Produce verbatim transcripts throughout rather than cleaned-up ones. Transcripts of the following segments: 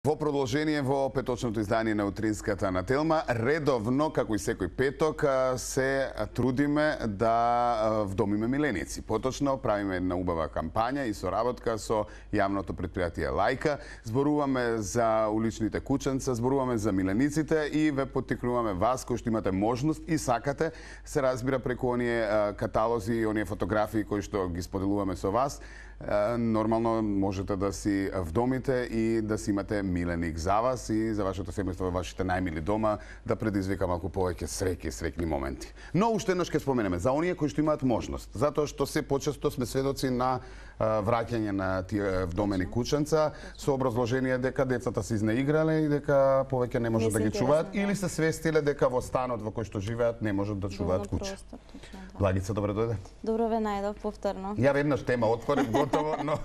Во продолжение во петочното издание на Утринската на Телма, редовно, како и секој петок, се трудиме да вдомиме миленици. Поточно правиме една убава кампања и соработка со јавното предпријатие Лајка. Зборуваме за уличните кученца, зборуваме за милениците и ве поттикнуваме вас кои што имате можност и сакате, се разбира преку оние каталози и оние фотографии кои што ги споделуваме со вас. Нормално можете да си вдомите и да си имате миленик за вас и за вашето семејство во вашите најмили дома, да предизвика малку повеќе среќи и среќни моменти. Но уште еднаш ќе споменеме за оние кои што имаат можност, затоа што се почесто сме сведоци на враќање на тие вдомени кученца со образложение дека децата се изнаиграле и дека повеќе не можат да ги чуваат или се свестиле дека во станот во кој што живеат не можат да чуваат куче. Благица, добре дојде. Добро ве најдов повторно. Ја веднаш тема отворив готово, но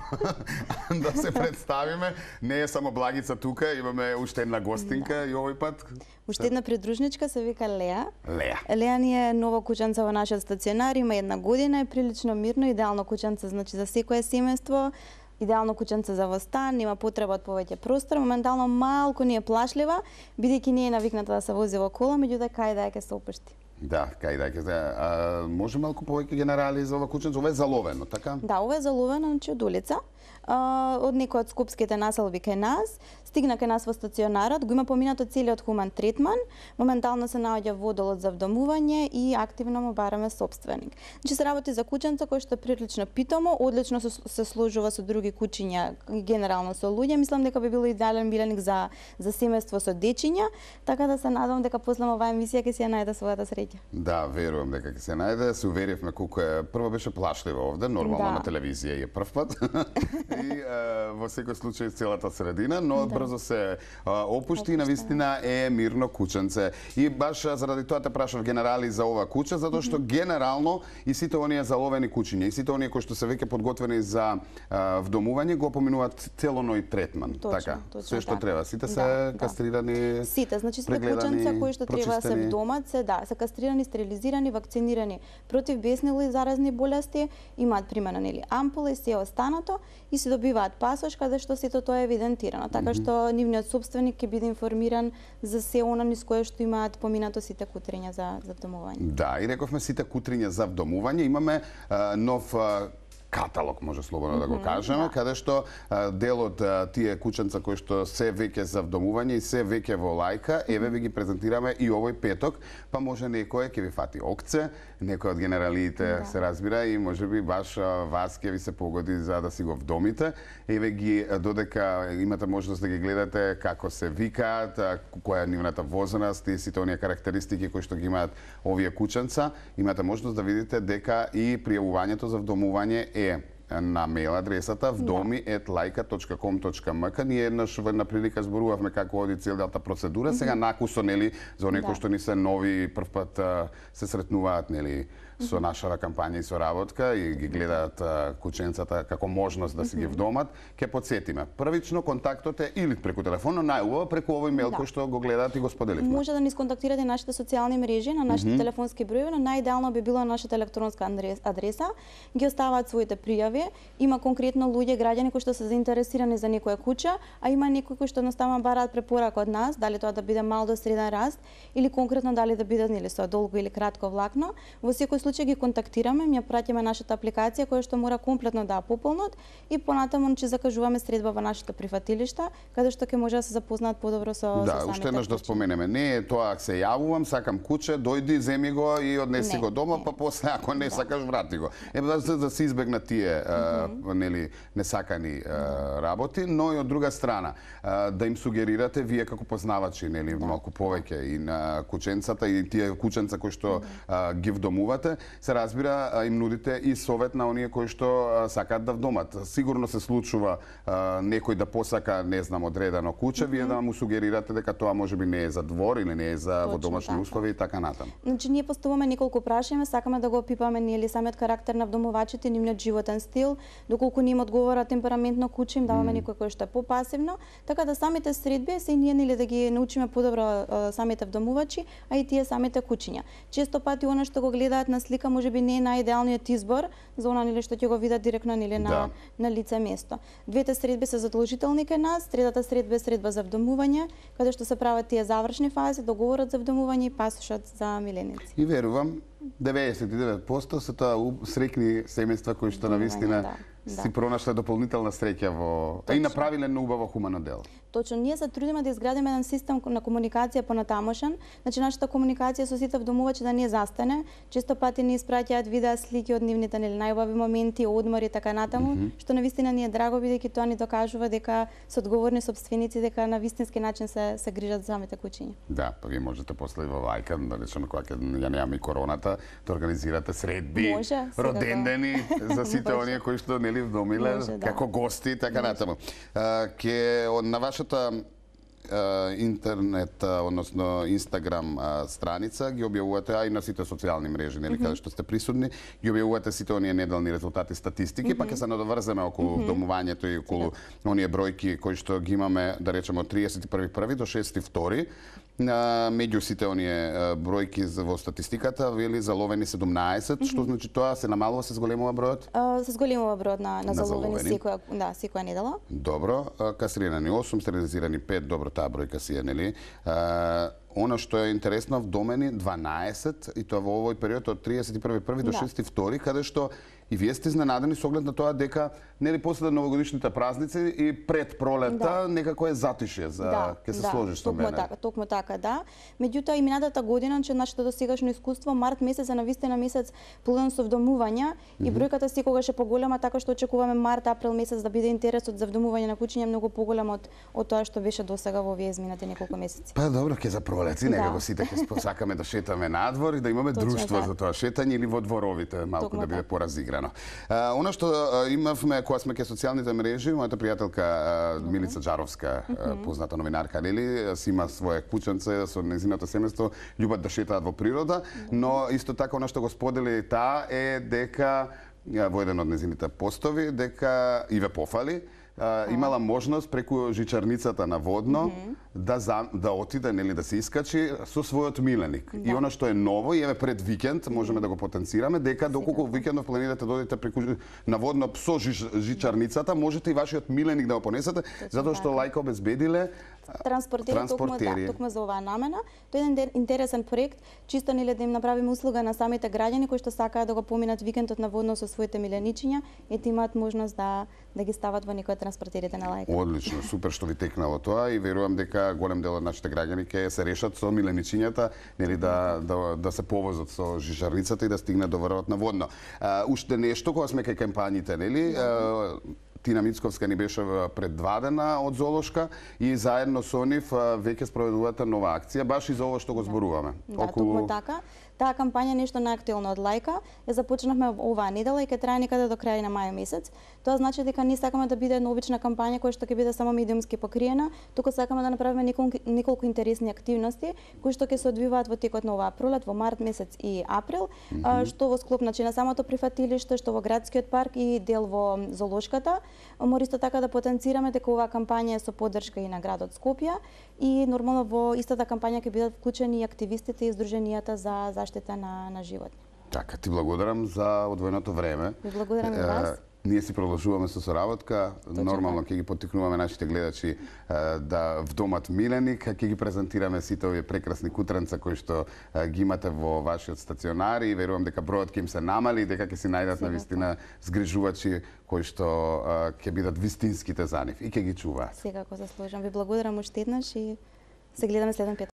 да се представиме, не е само Благица тука, имаме уште една гостинка и овој пат. Уште една придружничка се вика Леа. Леа. Леа ни е нова кученца во нашиот стационар, има една година, е прилично мирно, идеално кученце значи за секое семејство. Идеално кученце за во стан, има потреба од повеќе простор, моментално малку ни е плашлива, бидејќи не е навикната да се вози во кола, меѓутоа кај да ќе се опушти. Да, кај да ќе се. Може малку повеќе генерали за ова кученце, ова е заловено, така? Да, ова е заловено, значи од улица. Од некој од скопските населби кај нас, стигна кај нас во стационарот, го има поминато целиот хуман третман, моментално се наоѓа во одделот за вдомување и активно му бараме собственик. Значи се работи за кученце кој што е прилично питомо, одлично се, се сложува со други кучиња, генерално со луѓе. Мислам дека би било идеален миленик за за семејство со дечиња, така да се надевам дека после оваа емисија ќе си ја најде својата среќа. Да, верувам дека ќе се најде. Се уверивме колку е. Прво беше плашливо овде, нормално да. На телевизија е прв пат. И а, во секој случај целата средина, но да. Брзо се а, опушти и навистина е мирно кученце. И баш заради тоа те прашав генерали за ова куче, затоа што генерално и сите оние заловени кучиња и сите оние кои што се веќе подготвени за а, вдомување го поминуваат целоној третман, точно, така. Точно, Се што да. треба, сите се да, кастрирани. Сите, значи сите кученца кои што треба да се вдомат се да, се кастрирани, стерилизирани, вакцинирани против беснели заразни болести, имаат примена нели ампула и се останато и се добиваат пасош каде што сето тоа е евидентирано, така што mm -hmm. нивниот собственик ќе биде информиран за се она низ кое што имаат поминато сите кутриња за за вдомување. Да, и рековме сите кутриња за вдомување, имаме а, нов а, каталог, може слободно да го кажеме, да. Каде што а, дел од а, тие кученца кои што се веќе за вдомување и се веќе во Лајка, еве ви ги презентираме и овој петок, па може некој ќе ви фати окце, некој од генералиите да. Се разбира и можеби баш а, вас ќе ви се погоди за да си го вдомите. Еве ги додека имате можност да ги гледате како се викаат, која е нивната возраст и сите оние карактеристики кои што ги имаат овие кученца, имате можност да видите дека и пријавувањето за вдомување е на мејл адресата вдоми ет лајка точка ком точка ем ка. Ние еднаш во една прилика зборувавме како оди целата процедура, сега накусо нели за оние кои што ни се нови прв пат се сретнуваат нели со нашава кампања и соработка и ги гледаат кученцата како можност да си ги вдомат, ќе потсетиме. Првично контактот е или преку телефон, но најубаво преку овој мејл да. Кој што го гледаат и го споделивме. Може да ни сконтактирате нашите социјални мрежи, на нашите mm -hmm. телефонски броеви, но најидеално би било нашата електронска адреса. Ги оставаат своите пријави. Има конкретно луѓе, граѓани кои што се заинтересирани за некоја куча, а има некои кои што едноставно бараат препорака од нас, дали тоа да биде мал до среден раст или конкретно дали да биде нели со долго или кратко влакно. Во секој случај ги контактираме, ја праќаме нашата апликација која што мора комплетно да ја пополнат и понатаму ќе закажуваме средба во нашите прифатилишта, каде што ќе може да се запознаат подобро со да, со самите. Да, уште еднаш да споменеме, не е тоа се јавувам, сакам куче, дојди, земи го и однеси не, го дома, не. Па после ако не да. Сакаш врати го. Е да, да се избегнат тие mm -hmm. а, нели несакани а, работи, но и од друга страна а, да им сугерирате вие како познавачи нели да. Малку повеќе и на кученцата и тие кученца кои што а, ги вдомувате, се разбира им нудите и совет на оние кои што сакаат да вдомат. Сигурно се случува а, некој да посака, не знам, одредено куче, mm -hmm. вие да му сугерирате дека тоа можеби не е за двор или не е за во домашни така. Услови и така натаму. Значи ние поставуваме неколку прашања, сакаме да го опипаме нели самиот карактер на вдомувачите, нивниот животен стил, доколку ним одговара темпераментно куче, им даваме mm. некој кој што е попасивно, така да самите средби се и ние нели да ги научиме подобро самите вдомувачи, а и тие самите кучиња. Често пати она што го гледаат на слика можеби не е најидеалниот избор за она нели што ќе го видат директно нели на Да. на лице место. Двете средби се задолжителни кај нас, третата средба е средба за вдомување, каде што се прават тие завршни фази, договорот за вдомување и пасошот за миленици. И верувам, деветдесет и девет проценти се тоа у- среќни семејства кои што навистина да, да. си пронашле дополнителна среќа во а и направиле едно убаво хумано дело. Точно, ние се трудиме да изградиме еден систем на комуникација понатамошен, значи нашата комуникација со сите вдомувачи да не застане. Често пати ни испраќаат видеа, слики од нивните нели најубави моменти, одмори и така натаму, mm -hmm. што навистина ни е драго бидејќи тоа ни докажува дека се одговорни сопственици, дека на вистински начин се се грижат за самите куќиња. Да, па вие можете после во лајка, да речеме кога ќе ја немаме и короната, да организирате средби, Може, секако. родендени за сите Може. оние кои што нели вдомиле Може, да. како гости и така натаму. А, Ке на вашата а, интернет, а, односно Инстаграм а, страница ги објавувате, а и на сите социјални мрежи, нели, каде што сте присутни, ги објавувате сите оние неделни резултати, статистики, па ќе се надоврземе околу вдомувањето и околу оние бројки кои што ги имаме, да речеме, од триесет и први први до шести втори. На меѓу сите оние а, бројки за- во статистиката, вели заловени седумнаесет, што значи тоа се намалува, се зголемува бројот? Uh, се зголемува бројот на, на На заловени заловени. секоја, да, секоја недела. Добро, а, кастрирани осум, стерилизирани пет, добро, таа бројка си е, нели? А, Она што е интересно, вдомени дванаесет, и тоа во овој период од триесет и први први до Да. шести втори, каде што и вие сте изненадени со оглед на тоа дека нели после новогодишните празници и пред пролета Да. некако е затише за Да, ќе се да, сложиш со токму мене. така, токму така, да. Меѓутоа и минатата година, че нашето досегашно искуство, март месец е навистина месец полн со вдомувања и бројката секогаш е поголема, така што очекуваме март, април месец да биде интересот за вдомување на куќиња многу поголем од од тоа што беше досега во овие изминати неколку месеци. Па добро, ќе за пролеци, некако Да. сите ќе посакаме да шетаме надвор и да имаме Точно друштво така. за тоа шетање или во дворовите, малку Токму да биде така. поразиграно. А, Она што а, имавме кога сме ке социјалните мрежи, мојата пријателка а, Милица Джаровска, а, позната новинарка, нели, си има свое куќенце со нејзиното семејство, љубат да шетаат во природа, но исто така она што го сподели и таа е дека а, во еден од нејзините постови дека и ве пофали, а, имала можност преку жичарницата на водно да за, да отиде, нели, да се искачи со својот миленик. И она што е ново, и еве пред викенд можеме да го потенцираме дека доколку викендов планирате да одите преку жи- на водно со жич, жичарницата, можете и вашиот миленик да го понесете, затоа што лајка обезбедиле Транспортери, токму, Транспортери. да, токму за оваа намена. Тоа е еден ден- интересен проект, чисто нели да им направиме услуга на самите граѓани кои што сакаат да го поминат викендот на водно со своите миленичиња, ете имаат можност да да ги стават во некој од транспортерите на лајка. Одлично, супер што ви текнало тоа и верувам дека голем дел од нашите граѓани ќе се решат со миленичињата, нели да да да се повозат со жижарницата и да стигнат до врвот на водно. А, уште нешто кога сме кај кампањите, нели? А, Тина Мицковска ни беше предвадена од Золошка и заедно со нив а, веќе спроведувате нова акција, баш и за ова што го зборуваме. Да, токму така. Таа кампања нешто најактуелно од лајка, ја започнавме оваа недела и ќе трае некаде до крај на мај месец. Тоа значи дека ние сакаме да биде една обична кампања која што ќе биде само медиумски покриена, туку сакаме да направиме неколку, неколку интересни активности кои што ќе се одвиваат во текот на оваа пролет, во март месец и април, mm -hmm. а, што во склоп значи на самото прифатилиште, што во градскиот парк и дел во Золошката. Мора исто така да потенцираме дека оваа кампања е со поддршка и на градот Скопје и нормално во истата кампања ќе бидат вклучени и активистите и здруженијата за заштита на на животни. Така, ти благодарам за одвоеното време. Ви благодарам и вас. Ние си продолжуваме со соработка. Точно Нормално така. ќе ги поттикнуваме нашите гледачи е, да вдомат миленик, ќе ги презентираме сите овие прекрасни кутренца кои што е, ги имате во вашиот стационар и верувам дека бројот ќе им се намали и дека ќе си најдат навистина згрижувачи кои што е, ќе бидат вистинските за нив и ќе ги чуваат. Секако заслужам. Ви благодарам уште еднаш и се гледаме следен петок.